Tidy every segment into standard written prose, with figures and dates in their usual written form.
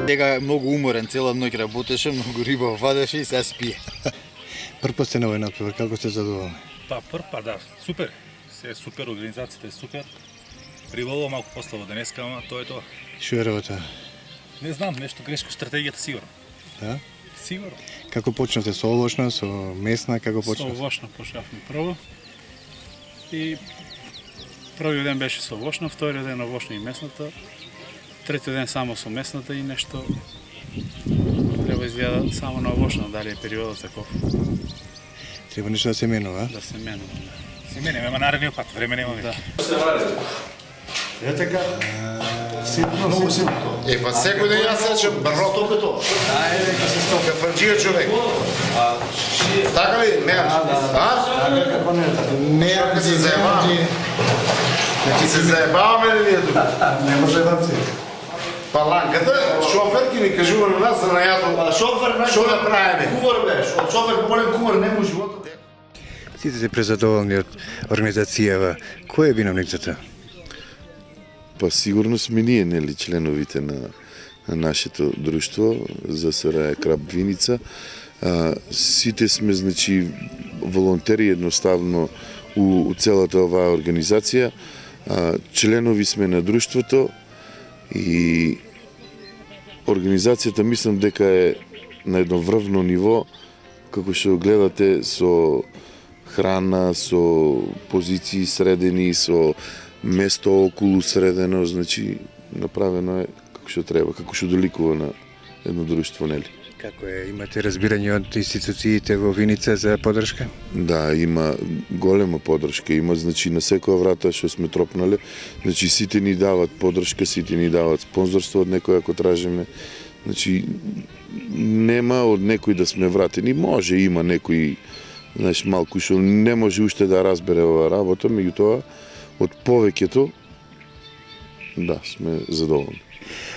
Сега многу уморен, цела ноќ работеше, многу риба вадеше и се спие. Прв пат сте на овој натпревар, како сте задоволни? Прв пат, да, супер. Се супер, организацијата е супер. Прибавува малку послово денеска, ама тоа е тоа. Што е работа? Не знам, нешто грешко стратегијата сигурно. Да? Сигурно. Како почнавте со овошна, со месна, како почнавте? Со овошна почнавме прво. И првиот ден беше со овошна, вториот ден овошна и месната. Третиот ден само со месната и нешто треба изгледа само на овошна, дали е периодот таков. Треба нешто да се менува, Да се менува. Се менува, ама наредниот пат, време немаме. Да. Е така. Многу силно. Па секој ден јас речем брото. Ајде, ка се стопи. Кафарџија човек. Така ли? Не. Како не така? Не, ка се заебаваме. Ки се заебаваме ли ние тука? Не може да си. Паланката, шофер ки ми кажува на нас за најато. Шофер, што да правиме? Кувар беше. Од шофер поболен кувар нема животот. Сите се презадоволни од организацијава. Кој е виновник за тоа? Па сигурно сме ние, нели, членовите на нашето друштво за СРА Краб Виница. Сите сме, значи, волонтери едноставно у целата оваа организација. Членови сме на друштвото и организацијата мислам дека е на едно врвно ниво, како што гледате, со храна, со позиции средени, со место околу средено, значи направено е како што треба, како што доликува на едно друштво, нели? Како е, имате разбирање од институциите во Виница за поддршка? Да, има голема поддршка, има, значи, на секоја врата што сме тропнале, значи сите ни дават поддршка, сите ни дават спонзорство од некој ако тражиме, значи нема од некој да сме вратени, може има некој, знаеш, малку што не може уште да разбере оваа работа, меѓутоа од повеќето, да, сме задоволни.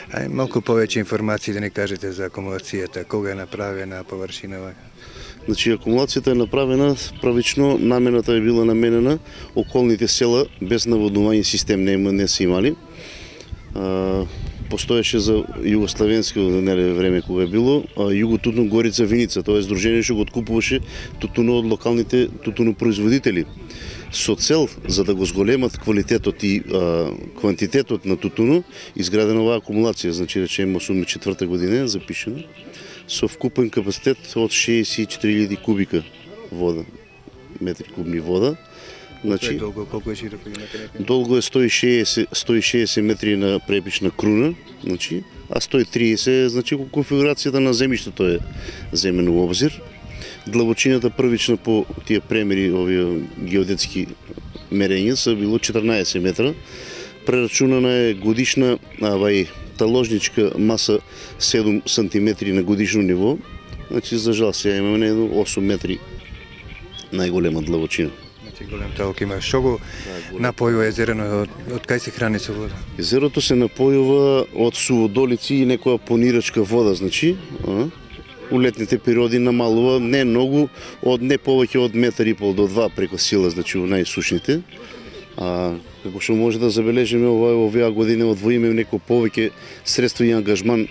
Ај малку повеќе информации да ни кажете за акумулацијата, кога е направена, површинава? Значи, акумулацијата е направена правично, намената е била наменена, околните села без наводнување систем не се имали. Постоеше за југославенско време кога е било, Југо-Тутун Горица Виница, тоа е здружение што го откупуваше тутуно од локалните тутунопроизводители. Со цел за да го зголемат квалитетот и квантитетот на тутуно, изградена оваа акумулација, значи речеме 84 година запишено, со вкупен капацитет од 64.000 кубика вода, метри кубни вода. Значи, долго, колку е широко имате? Долго е 160 метри на препична круна, значи, а 130, значи, конфигурацијата на земјиштето е земено во обзир. Длабочината првична по тие премери, овие геодетски мерења, са било 14 метра. Прерачунана е годишна таложничка маса 7 сантиметри на годишно ниво. Значи, за жал сега имаме 8 метри најголема длабочина. Голем талок има. Што го напојува езерото, од кај се храни со вода? Езерото се напојува од суводолици и некоја понирачка вода, значи. У летните периоди намалува не многу, од не повеќе од метар и пол до 2 преку сила, значи во најсушните. Како што може да забележиме оваа година одвоиме некој повеќе средства и ангажман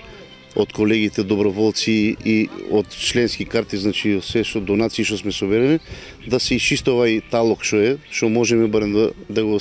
од колегите доброволци и од членски карти, значи се што донации што сме соберени, да се исчисти овај талок што можеме барем да го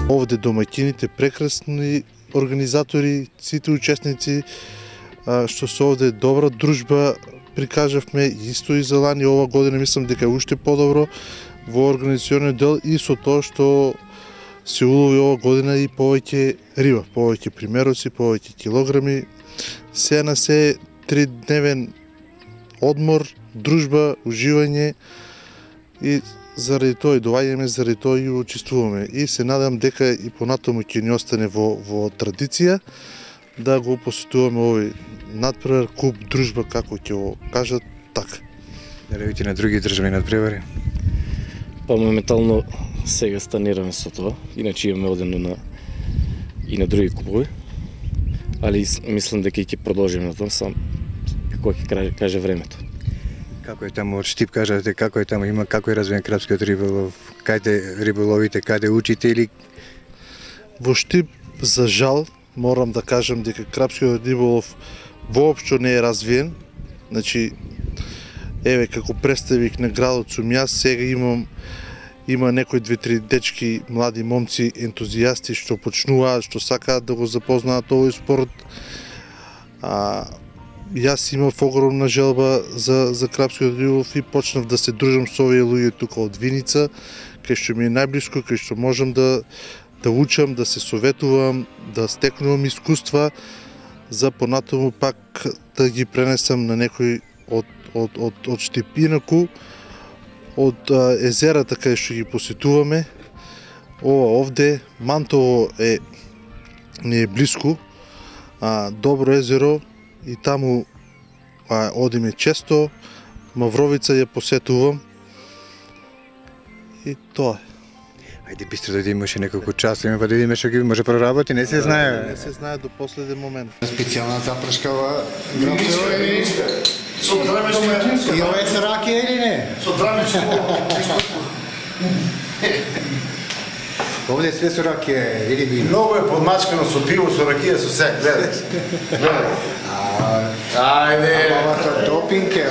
Овде домаќините прекрасни организатори, сите учесници што се овде добра дружба прикажавме исто и за лани. Ова година мислам дека е уште подобро во организационниот дел и со тоа што се улови ова година и повеќе риба, повеќе примероци, повеќе килограми. Се на се 3-дневен одмор, дружба, уживање и заради тоа и доаѓаме, заради тоа и учествуваме. И се надам дека и понатаму ќе ни остане во традиција да го посетуваме овој надпревар, куп, дружба, како ќе го кажат, така. Дали видите на други државни надпревари? Па моментално сега станираме со тоа, иначе имаме одено и на други купови, али мислам дека ќе продолжиме на тоа, сам како ќе каже времето. Како е таму, од Штип кажате, како е таму, има како е развиен крапскиот риболов, каде риболовите, каде учите или? Во Штип, за жал, морам да кажам дека крапскиот риболов воопшто не е развиен. Значи, еве, како представник на градот сум јас, сега има некои 2-3 дечки, млади момци, ентузијасти што почнуваат, што сакаат да го запознаат овој спорт. Јас имав огромна желба за крапскиот риболов и почнав да се дружам со овие луѓе тука од Виница, кај што ми е најблиско, кај што можам да учам, да се советувам, да стекнувам искуства, за понатаму пак да ги пренесам на некој од Штип. Инаку, од езерата кај што ги посетуваме, овде Мантово не е блиску, добро езеро и таму одиме често, Мавровица ја посетувам и тоа е. Ајде бистро да имаше неколку часа, па да видиме што ги може проработи, не се знае. Не се знае до последен момент. Специјална запршкава грапчева и ова е ракија или не? Со драмичко искуство. Овде све со ракија или вино? Многу е подмачкано со пиво, со ракија, со се, гледај. Ајде. Ова со допинг е.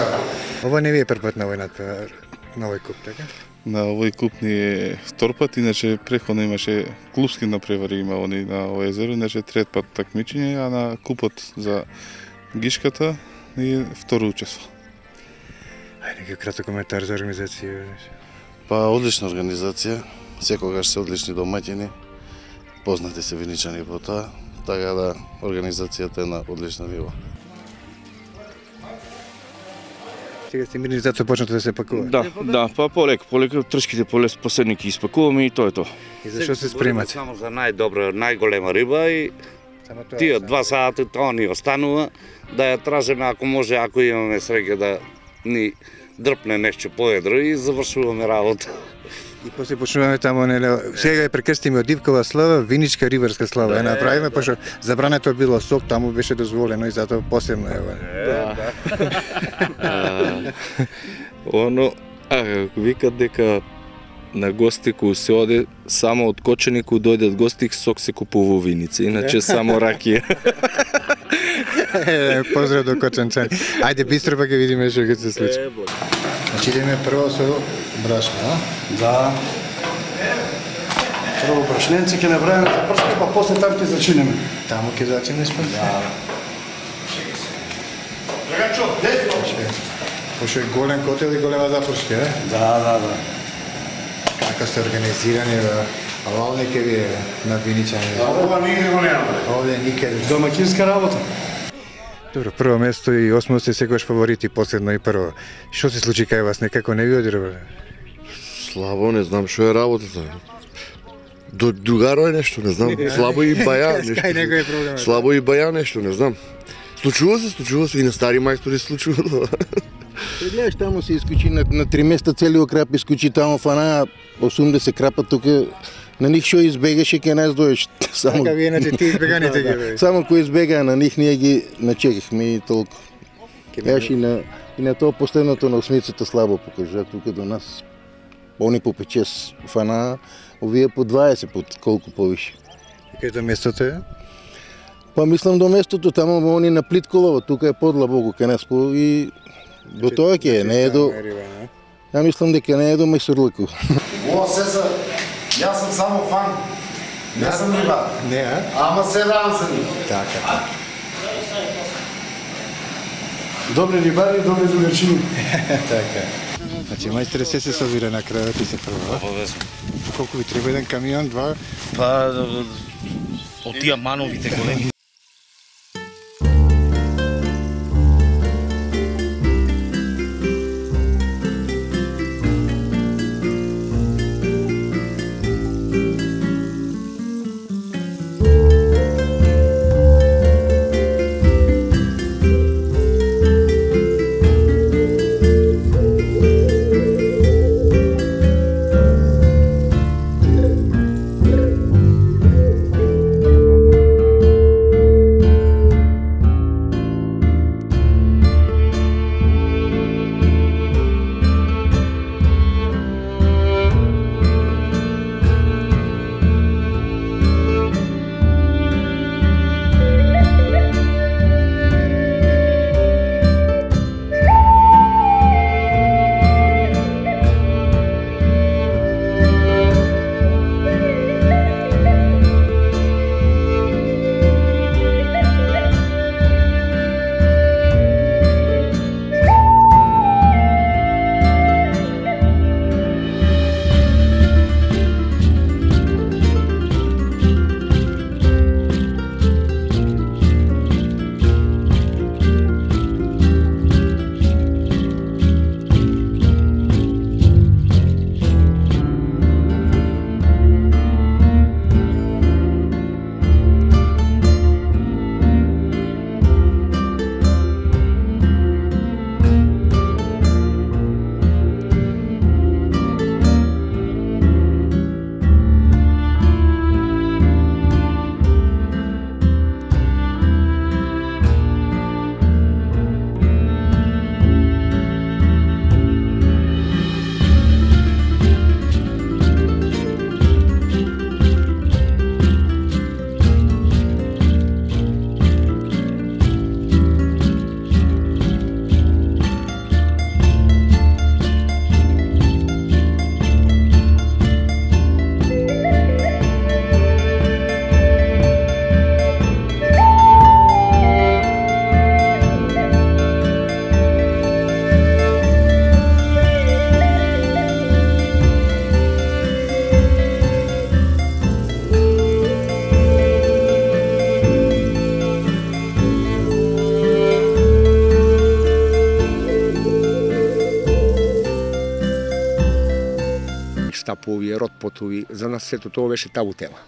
Ова не ви е првпат на овој надпревар, на овој куп, така? На овој куп ни е втор пат, иначе преходно имаше клубски напревари има они на овој езеро, иначе трет пат такмичење, а на купот за Гишката ни е второ учество. Ајде некој краток коментар за организација. Па одлична организација, секогаш се одлични домаќини, познати се виничани по тоа, така да организацијата е на одлична ниво. Сега сте мирни, затоа почнато да се пакува? Да, па полека тршките последни ќе испакуваме и тоа е тоа. И зашо се спремате? Само за најдобра, најголема риба и тие 2 сати тоа ни останува, да ја тражиме ако може, ако имаме среќа да ни дрпне нешто поедро и завршуваме работа. И после почнуваме таму, сега ја прекрстиме од Ивкова слава, Виничка риварска слава. Ја направиме, пошто забрането било сок, таму беше дозволено и затоа посебно е ова. Оно, викат дека на гости кои се оде, само од Кочани кои дојдат гости, сок се купува во Виница, иначе само ракија. Поздрав до Кочанчани. Ајде бистро па ќе видиме што ќе се случи. Значи идеме прво со брашно, а? Да. Прво брашненце ќе направиме за прска, па после таму ќе зачинеме. Таму ќе зачинеш па? Да. Драгачо, десно! Пошто е голем котел и голема запршка, е? Да. Како сте организирани, ова не ке ви е на Виничани? Ова нигде го немаме. Овде никаде. Домакинска работа. Добро, прво место и осмо се секогаш фаворити, последно и прво. Што се случи кај вас, некако не ви одира? Слабо, не знам што е работата. Другаро е нешто, не знам. Слабо и баја нешто. Кај некој е проблемот. Слабо и баја нешто, не знам. Случува се и на стари мајстори случува. Гледаш, таму се искучи на 3 места целиот крап искучи таму фана 80 крапа тука. На нив што избегаше ќе нас дојдеш. Така ви иначе ти избеганите ги бе. Само кој избега на нив ние ги начекахме и толку. Еш и на тоа последното на осмицата слабо покажа тука до нас. Они по 5-6 фана, овие по 20 пат колку повише. И кај до местото е? Па мислам до местото, таму они на Плитколово, тука е подлабоко кај нас и до тоа ќе не е до. Ја мислам дека не е до Месурлаку. Ова се са, јас сум само фан. Не сум рибар. Не, а? Ама се ранзани. Така. Добри рибари, добри другарчини. Така. Значи, мајстре, се собира на крајот и се прва. Обавезно. Колку ви треба еден камион, два? Па, од тие мановите големи. стапови, ротпотови, за нас сето тоа беше табу тема.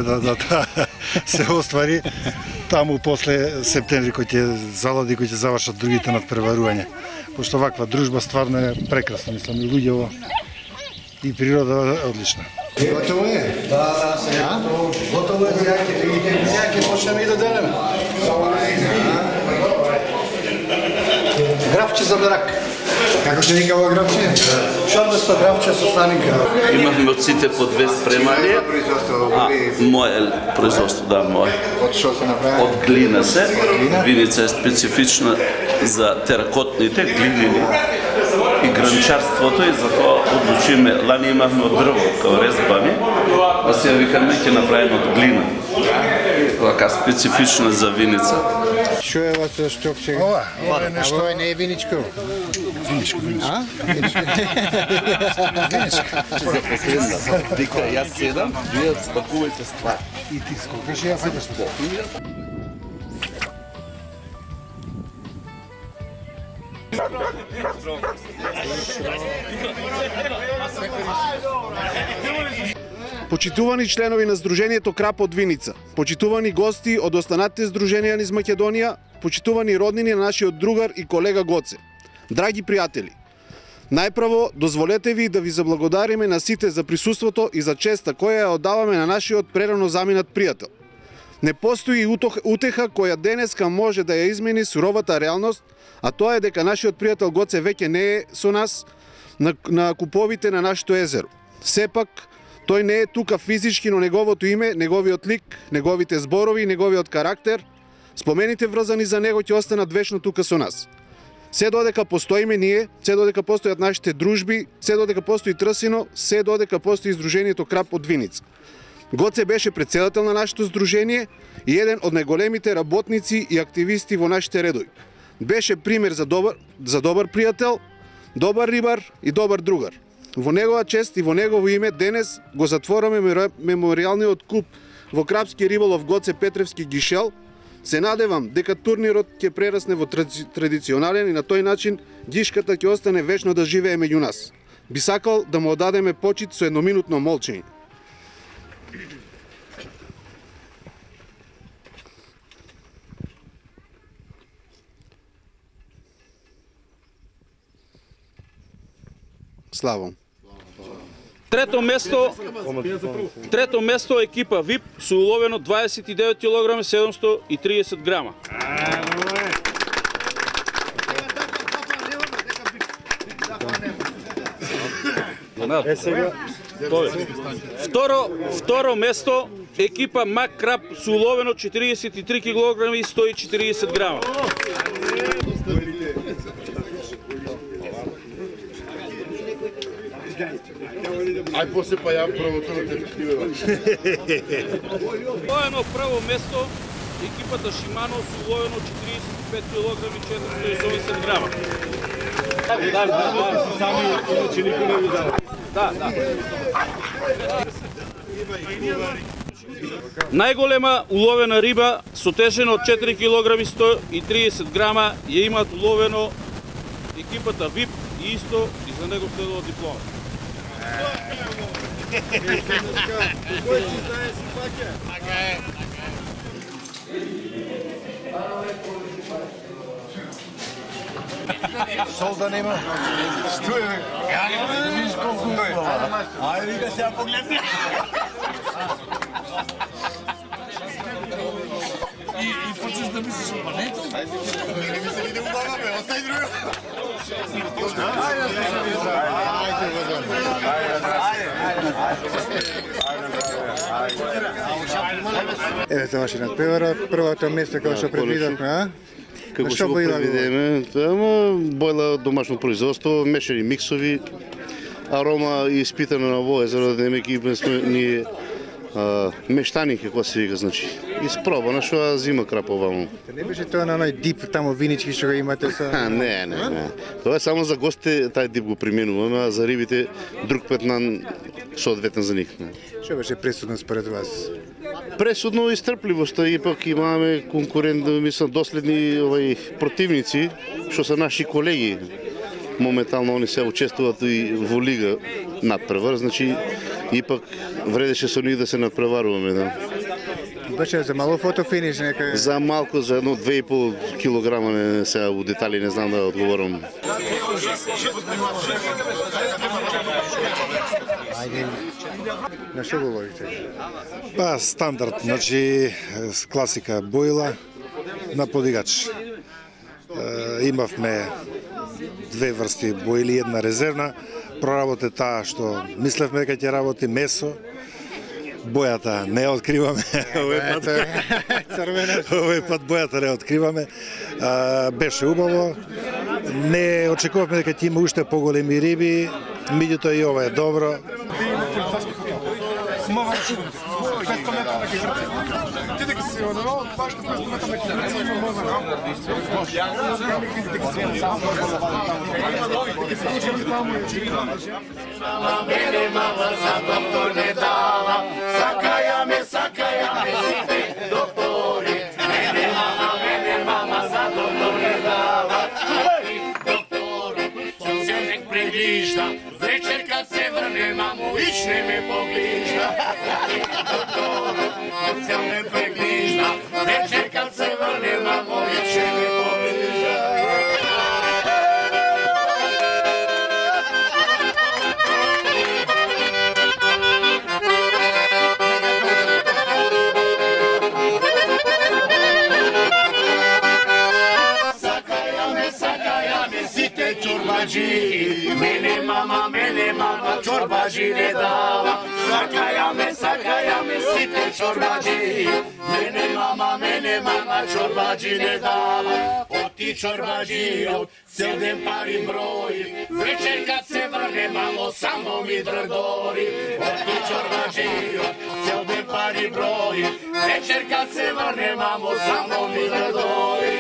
надеваме да се оствари. Таму после септември кој ќе залади, кој ќе завршат другите надпреварувања. Пошто ваква дружба стварно е прекрасна, мислам, и луѓево и природа е одлична. Готово е? Да, сега готово е, сега ќе почнеме и да делеме. Графче за брак. Како се вика ова графче? Шарбесто графче со сланинка. Имавме од сите по 2 спремали. Мое производство, да, мое. Од што се направи? Од глина се. Виница е специфична за теракотните глинини и гранчарството и затоа одлучиме. Лани имавме од дрво, као резбани, а сега викаме ќе направиме од глина. Така специфична за виница. Што е ова со штокче? Ова е нешто. Ова не е виничко. Виничко. А? Виничко. Вика, јас седам, вие спакувајте ствар. И ти скокаш и ја фаќаш по. Почитувани членови на Сдруженијето Крап од Виница, почитувани гости од останатите здруженија низ Македонија, почитувани роднини на нашиот другар и колега Гоце. Драги пријатели, најпрво дозволете ви да ви заблагодариме на сите за присуството и за честа која ја оддаваме на нашиот прерано заминат пријател. Не постои утеха која денеска може да ја измени суровата реалност, а тоа е дека нашиот пријател Гоце веќе не е со нас на куповите на нашето езеро. Сепак, тој не е тука физички, но неговото име, неговиот лик, неговите зборови, неговиот карактер, спомените врзани за него ќе останат вечно тука со нас. Се додека постоиме ние, се додека постојат нашите дружби, се додека постои Трсино, се додека постои Сдруженијето Крап од Виница. Гоце беше председател на нашето здружение и еден од најголемите работници и активисти во нашите редови. Беше пример за добар пријател, добар рибар и добар другар. Во негова чест и во негово име денес го затвораме меморијалниот куп во Крапски риболов Гоце Петревски Гишел. Се надевам дека турнирот ќе прерасне во традиционален и на тој начин гишката ќе остане вечно да живее меѓу нас. Би сакал да му одадеме почит со едноминутно молчење. Славом. Трето место екипа ВИП со уловено 29 кг 730 грама. Второ место екипа Мак Крап со уловено 43 кг и 140 грама. Ај после па ја првото на тефективе. Уловено прво место екипата Шимано со уловено 45 кг и 480 грама. Сами иначе никој не ви дава. Да. Најголема уловена риба со тежина од 4 кг и 130 грама ја имаат уловено екипата ВИП и исто и за него следува диплома. Сол да нема. Стој. Виж колку е. Ајде вика сега погледни. И почнеш да мислиш па не тоа. Не ми се види убава бе, остај друго. Еве заврши надпреварот, првото место како што предвидовме, а? Како што го предвидеме, ама бојла домашно производство, мешани миксови, арома испитана на во езеро, демеки сме ние мештани како се вика, значи. Испробана што зима крап оваму. Не беше тоа на оној дип таму винички што го имате со? Не. Тоа е само за гостите, тај дип го применуваме, а за рибите друг пет на соодветен за нив. Што беше пресудно според вас? Пресудно и стрпливоста, ипак имаме конкурент, мислам, доследни противници, што се наши колеги. Моментално они се учествуваат и во лига надпревар, значи ипак вредеше со нив да се надпреваруваме, да. Беше за мало фотофиниш некој. За малку, за едно 2,5 килограма, не сега у детали не знам да одговорам. На што го ловите? Па стандард, значи класика боила на подигач. Имавме две врсти боили, една резервна. Проработе таа што мислевме дека ќе работи месо. Бојата не откриваме. Овој пат бојата не откриваме. Беше убаво. Не очекувавме дека ќе има уште поголеми риби, меѓутоа и ова е добро. Мене мама за доктор не дава, сакаја ме сите доктори. Мене мама за доктор не дава, доктор, сонценек преглижда, вечер kad se vrne mamu, išne me pogližda. Doktor, сонценек преглижда, вечер kad se vrne mamu, išne me pogližda. Мене мама чорбаджи не дава, сакаја ме сите чорбаджи. Мене мама чорбаджи не дава, оти чорбаджиот цел ден пари брои, вечер kad се врне мамо само ми дрдори. Оти чорбаджиот цел ден пари брои, вечер kad се врне мамо само ми дрдори.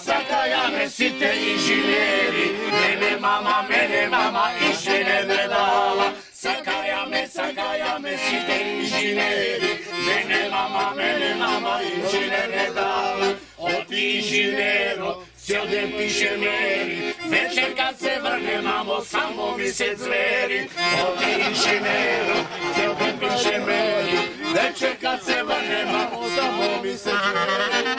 Сакаја ме сите инженери, мене мама инженер не дава. Сакаја ме сите инженери, мене мама инженер не дава. Оти инженерот цел ден пише мери, вечер kad се врне мамо само ми се звери. Оти инженерот цел ден пише мери, вечер kad се врне мамо само ми се звери.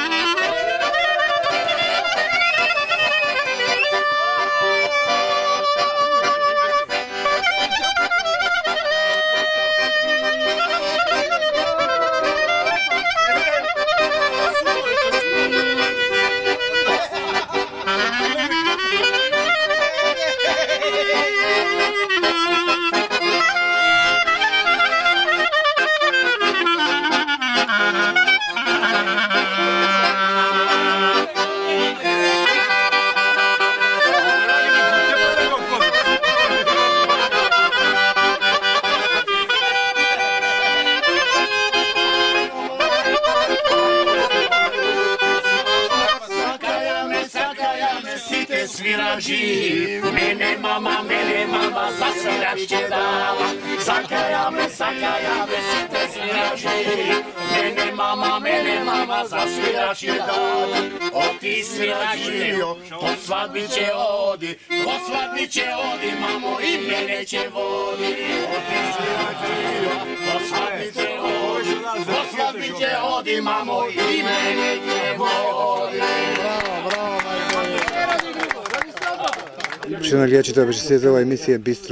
Свиражи, мене мама за свирач ќе дава. Сакаја ме сите свиражи, мене мама за свирач ќе дава. Оти свиражио, по свадби ќе оди, мамо и мене ќе води. Оти свиражио, по свадби ќе оди, мамо и мене ќе води. Што нагледачите, беше се за ова емисија Бистро